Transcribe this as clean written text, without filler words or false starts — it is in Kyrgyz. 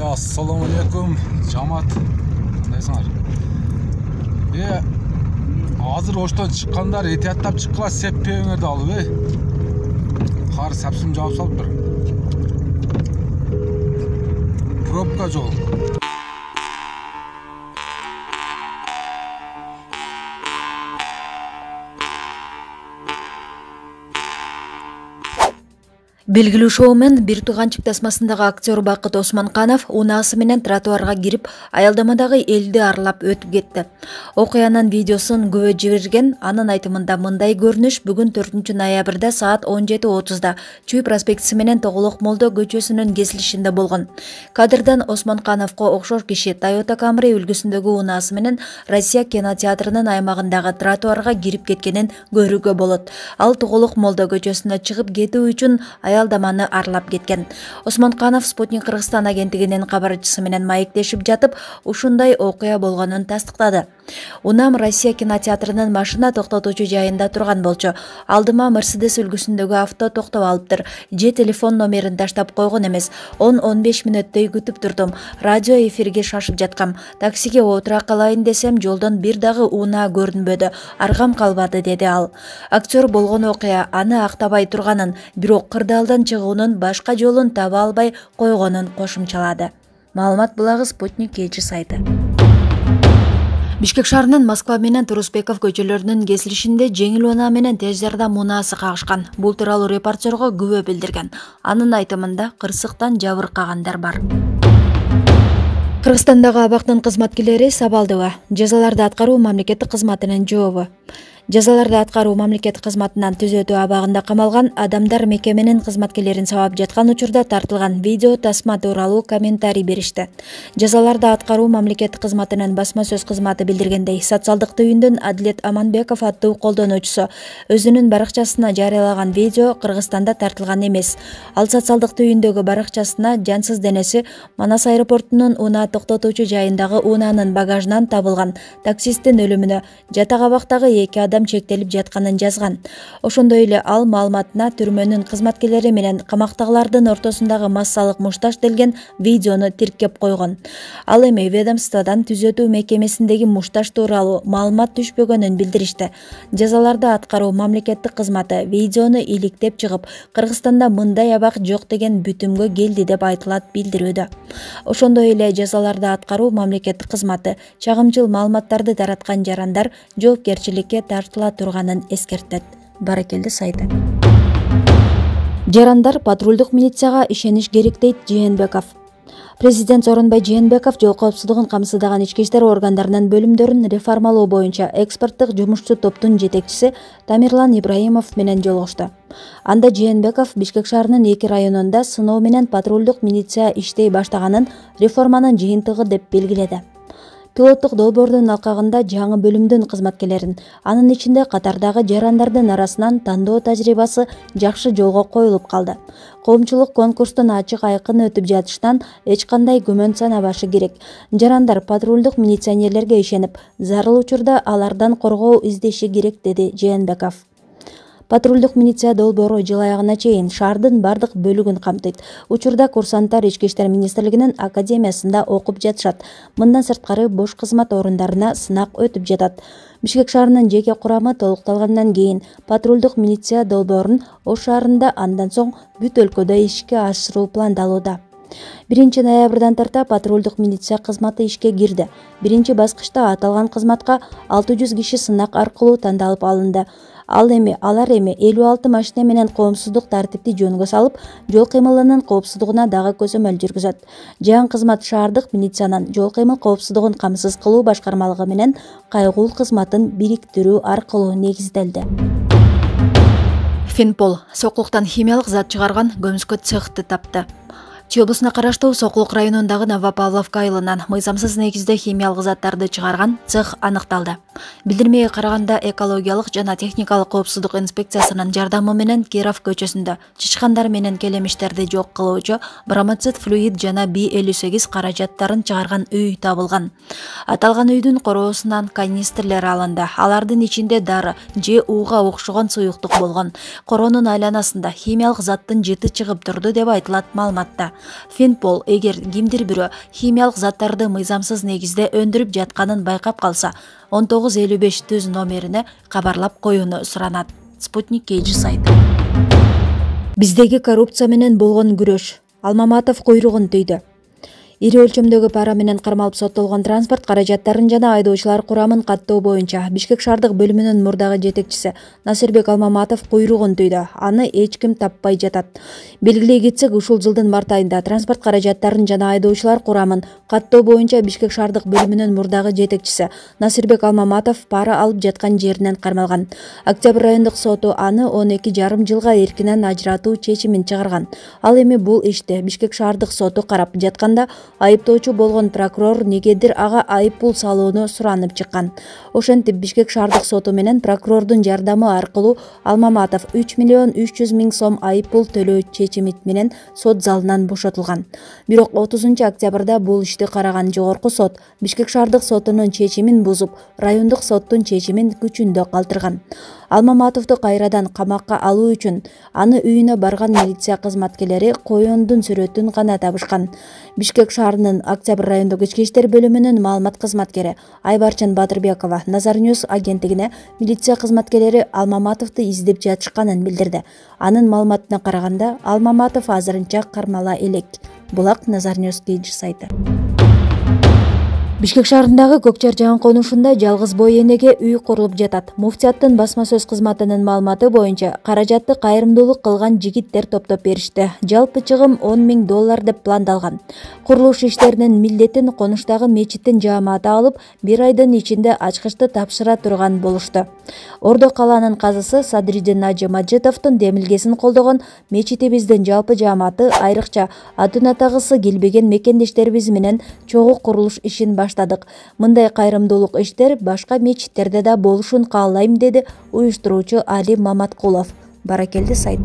Assalomu alaykum jamoat. Qandaysыңар? Азыр оштон чыккандар этияттап чыккыла сеппеңерди алып, Кар сапсым жаап салыптыр. Пробка жол. Белгилүү шоумен бир тууганчык тасмасындагы актер Бакыт Осмонканов унаасы менен тротуарга кирип, аялдамадагы элди арлап өтүп кетти. Окуянын видеосун күбө жиберген, анын айтымында мындай көрүнүш бүгүн 4-ноябрда саат 17:30да Чүй проспектиси менен Тоголок Молдо көчөсүнүн кесилишинде болгон. Кадрдан Осмонкановго окшош киши Toyota Camry үлгүсүндөгү унаасы менен Россия кинотеатрынын аймагындагы тротуарга кирип кеткенин көрүүгө болот. Ал Тоголок Молдо көчөсүнө чыгып кетүү үчүн аялдаманы арлап кеткен. Осмонканов Спутник Кыргызстан агенттигинин кабарчысы менен маектешип жатып, ушундай окуя болгонун тастыктады. Унам Россия кинотеатрынын машина токтотуучу жайында турган болчу. Алдыма Мерседес үлгүсүндөгү авто токтоп алыптыр. Же телефон номерин таштап койгон эмес. 10-15 мүнөттөй күтүп турдум. Радио эфирге шашып жаткам. Таксиге отура калайын десем, жолдон бир дагы унаа көрүнбөдү. Аргам калбады, деди ал. Актер болгон окуя аны актабай турганын, бирок кырдаалдан чыгуунун башка жолун таба албай койгонун кошумчалады. Маалымат булагы Спутник KG сайты. Бишкек шаарынын Москва менен Турусбеков көчөлөрүнүн кесилишинде жеңил унаа менен тез жардам унаасы кагышкан. Бул тууралуу репортерго күбө билдирген. Анын айтымында кырсыктан жабыркагандар бар. Кыргызстандагы абактын кызматкерлери сабалдыба. Жазаларды аткаруу мамлекеттик кызматынын жообу. Жазаларды аткаруу мамлекеттик кызматынан түзөтүү абагында камалган адамдар мекеменин кызматкерлерин сабап жаткан учурда тартылган видео тасма тууралуу комментарий беришти. Жазаларды аткаруу мамлекеттик кызматынын басма сөз кызматы билдиргендей, социалдык түйүндөн Адилет Аманбеков аттуу колдонуучусу өзүнүн баракчасына жарыялаган видео Кыргызстанда тартылган эмес. Ал социалдык түйүндөгү баракчасына жансыз денеси Манас аэропортунун унаа токтотуучу жайындагы унаанын багажынан табылган таксисттин өлүмүнө, жатак абактагы 2 адам чектелип жатканын жазган. Ошондой эле ал маалыматына түрмөнүн кызматкерлери менен камактагылардын ортосундагы массалык мушташ делген видеону тиркеп койгон. Ал эми ведомстводан түзөтүү мекемесиндеги мушташ тууралуу маалымат түшпөгөнүн билдиришти. Жазаларды аткаруу мамлекеттик кызматы видеону иликтеп чыгып, Кыргызстанда мындай абак жок деген бүтүмгө келди деп айтылат билдирүүдө. Ошондой эле жазаларды аткаруу мамлекеттик кызматы чагымчыл маалыматтарды тараткан жарандар жоопкерчиликке тартыла турганын эскертет. Баракелди сайты. Жарандар патрулдук милицияга ишениш керек, дейт Жээнбеков. Президент Сооронбай Жээнбеков жол коопсуздугун камсыздаган ички иштер органдарынын бөлүмдөрүн реформалоо боюнча экспорттук жумушчу топтун жетекчиси Тамирлан Ибраимов менен жолугушту. Анда Жээнбеков Бишкек шаарынын 2 районунда сыноо менен патрулдук милиция иштей баштаганын реформанын жыйынтыгы деп белгиледи. Пилоттук долбоордун алкагында жаңы бөлүмдүн кызматкерлерин, анын ичинде катардагы жарандардын арасынан тандоо тажрыйбасы жакшы жолго коюлуп калды. Коомчулук конкурстун ачык айкын өтүп жатышынан эч кандай күмөн санабашы керек. Жарандар патрулдук милиционерлерге ишенип, зарыл учурда алардан коргоо издеши керек, деди Жээнбеков. Патрулдук милиция долбоору жыл аягына чейин шаардын бардык бөлүгүн камтыйт. Учурда курсанттар Ички иштер министрлигинин академиясында окуп жатышат. Мындан сырткары бош кызмат орундарына сынак өтүп жатат. Бишкек шаарынын жеке курамы толукталгандан кийин патрулдук милиция долбоорун Ош шаарында, андан соң бүт өлкөдө ишке ашыруу пландалууда. 1-ноябрдан тарта патрулдук милиция кызматы ишке кирди. Биринчи баскычта аталган кызматка 600 киши сынак аркылуу тандалып алынды. Алар эми 56 машина менен коомсуздук тартипти жөнгө салып, жол кыймылынын коопсуздугуна дагы көзөмөл жүргүзөт. Жаңы кызмат шаардык милициянын жол кыймыл коопсуздугун камсыз кылуу башкармалыгы менен кайгул кызматын бириктирүү аркылуу негизделди. Финпол сокулуктан химиялык зат чыгарган көмүскө цехты тапты. Чүй облусуна караштуу Сокулук районундагы Новопавловка айылынан мыйзамсыз негизде химиялык заттарды чыгарган цех аныкталды. Билдирмеге караганда экологиялык жана техникалык коопсуздук инспекциясынын жардамы менен Киров көчөсүндө чычкандар менен келемиштерди жок кылуучу бромоцит флюид жана B58 каражаттарын чыгарган үй табылган. Аталган үйдүн короосунан канистрлер алынды. Алардын ичинде дары же ууга окшогон суюктук болгон. Коронун айланасында химиялык заттын жыты чыгып турду деп айтылат маалыматта. Финпол эгер кимдир бирөө химиялык заттарды мыйзамсыз негизде өндүрүп жатканын байкап калса, 1955 түз номерине кабарлап коюуну суранат. Спутник KG сайты. Биздеги коррупция менен болгон күрөш. Алмаматов куйругун түйдү. Ири өлчөмдөгү пара менен кармалып соттолгон транспорт каражаттарын жана айдоочулар курамын каттоо боюнча Бишкек шаардык бөлүмүнүн мурдагы жетекчиси Насирбек Алмаматов куйругун түйдү. Аны эч ким таппай жатат. Белгилей кетсек, ушул жылдын март айында транспорт каражаттарын жана айдоочулар курамын каттоо боюнча Бишкек шаардык бөлүмүнүн мурдагы жетекчиси Насирбек Алмаматов пара алып жаткан жеринен кармалган. Октябрь райондук соту аны 12,5 жылга эркинен ажыратуу чечимин чыгарган. Ал эми бул ишти Бишкек шаардык соту карап жатканда айыптоочу болгон прокурор негедир ага айып пул салууну суранып чыккан. Ошентип Бишкек шаардык соту менен прокурордун жардамы аркылуу Алмаматов 3,300,000 сом айып пул төлөө чечими менен сот залынан бошотулган. Бирок 30 октябрда бул ишти караган жогорку сот Бишкек шаардык сотунун чечимин бузуп, райондук соттун чечимин күчүндө калтырган. Алмаматовду кайрадан камакка алуу үчүн аны үйүнө барган милиция кызматкерлери коёндун сүрөтүн гана табышкан. Бишкек шаарынын Октябрь райондук ички иштер бөлүмүнүн маалымат кызматкери Айбарчын Батырбекова Назар Ньюс агенттигине милиция кызматкерлери Алмаматовду издеп жатышканын билдирди. Анын маалыматына караганда, Алмаматов азырынча кармала элек. Булак Назар Ньюс KG сайты. Бишкек шаарындагы Көкчар жаан конушунда жалгыз бой энеге үй курулуп жатат. Муфтияттын басма сөз кызматынын маалыматы боюнча, каражатты кайрымдуулук кылган жигиттер топтоп беришти. Жалпы чыгым $10,000 деп пландалган. Курулуш иштеринин милдетин конуштагы мечиттин жааматы алып, 1 айдын ичинде ачкычты тапшыра турган болушту. Ордо калаанын казысы Садридин Нажы Маджитовдун демилгесин колдогон мечитибиздин жалпы жааматы айрыкча атын атагысы келбеген мекендештерибиз менен чогуу курулуш ишин баштадык. Мындай кайрымдуулук иштер башка мечиттерде да болушун каалайм, деди уюштуруучу Али Маматкулов. Баракелди сайт.